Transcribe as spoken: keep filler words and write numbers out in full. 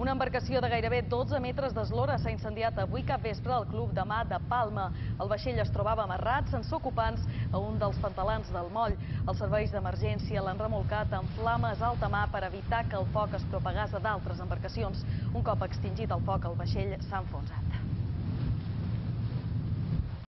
Una embarcació de gairebé dotze metres d'eslora s'ha incendiat avui capvespre al Club de Mar de Palma. El vaixell es trobava amarrat sense ocupants a un dels pantalans del moll. Els serveis d'emergència l'han remolcat en flames a alta mar per evitar que el foc es propagés a d'altres embarcacions. Un cop extingit el foc, el vaixell s'ha enfonsat.